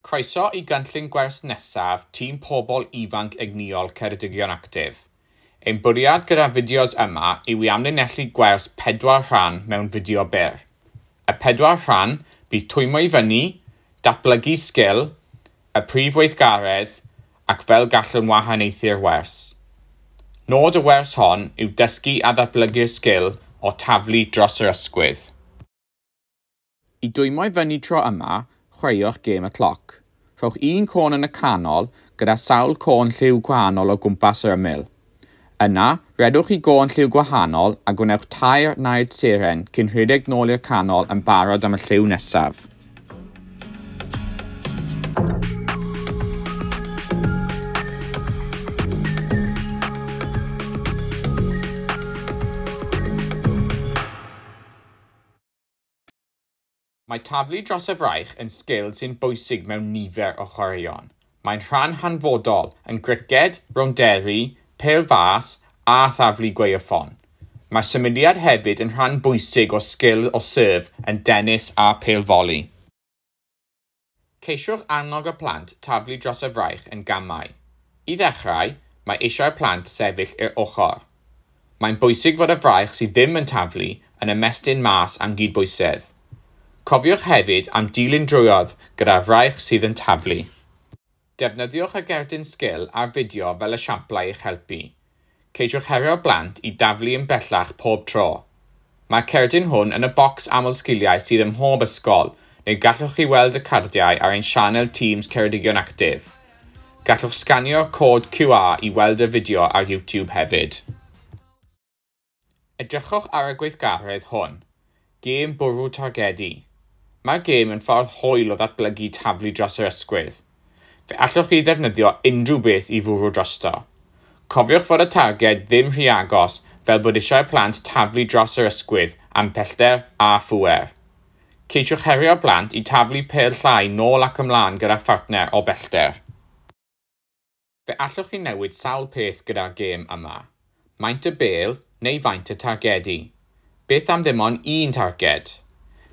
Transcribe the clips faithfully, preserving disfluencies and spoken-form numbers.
Croeso i gynllun gwers nesaf Tîm Pobl Ifanc Egnïol Ceredigion Actif. Ein bwriad gyda'r fideos yma yw i amlinellu gwers pedwar rhan mewn fideo byr. Y pedwar rhan bydd twymo i fyny, datblygu sgil, y prif weithgaredd, ac fel gallwn wahaniaethu'r wers. Nod y wers hon yw dysgu a ddatblygu'r sgil o taflu dros yr ysgwydd. I dwymo i fyny tro yma, chwaraewch gêm y cloc. Rhowch un côn yn y canol gyda sawl côn lliw gwahanol o gwmpas yr ymyl. Yna, redwch i gôn lliw gwahanol a gwnewch tair naid seren cyn rhedeg nôl i'r canol yn barod am y lliw nesaf. Mae taflu dros y fraich yn sgil sy'n bwysig mewn nifer o chwaraeon. Mae'n rhan hanfodol yn griced, rownderi, pêl fas a thaflu gwaywffon. Mae symudiad hefyd yn rhan bwysig o sgil o serve yn denis a pêl foli. Ceisiwch annog y plant taflu dros y fraich yn gamau. I ddechrau, mae eisiau'r plant sefyll i'r ochr. Mae'n bwysig fod y fraich sydd ddim yn taflu yn ymestyn mas am gydbwysedd. Cofiwch hefyd am dilyn drwodd gyda'r fraich sydd yn taflu. Defnyddiwch y gerdyn sgil a'r fideo fel esiamplau i'ch helpu. Ceisiwch herio'r blant i daflu yn bellach pob tro. Mae'r cerdyn hwn yn y bocs aml-sgiliau sydd ym mhob ysgol, neu gallwch chi weld y cardiau ar ein sianel Teams Ceredigion Actif. Gallwch sganio'r cod Q R i weld y fideo ar YouTube hefyd. Edrychwch ar y gweithgaredd hwn. Gêm bwrw targedu. Mae'r gêm yn ffordd hwyl o ddatblygu taflu dros yr ysgwydd. Fe allwch chi ddefnyddio unrhyw beth i fwrw drosto. Cofiwch fod y targed ddim rhy agos fel bod eisiau'r plant taflu dros yr ysgwydd am pellter a phŵer. Ceisiwch herio'r plant i taflu pêl llai nôl ac ymlaen gyda phartner o bellter. Fe allwch chi newid sawl peth gyda'r gêm yma. Maint y bêl neu faint y targedu. Beth am ddim ond un targed?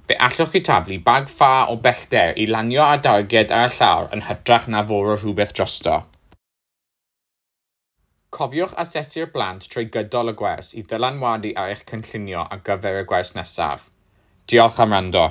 Fe allwch chi taflu bag ffa o bellter i lanio ar darged ar y llawr yn hytrach na fwrw rhywbeth drosto. Cofiwch asesu'r plant trwy gydol y gwers i ddylanwadu ar eich cynllunio ar gyfer y gwers nesaf. Diolch am wrando.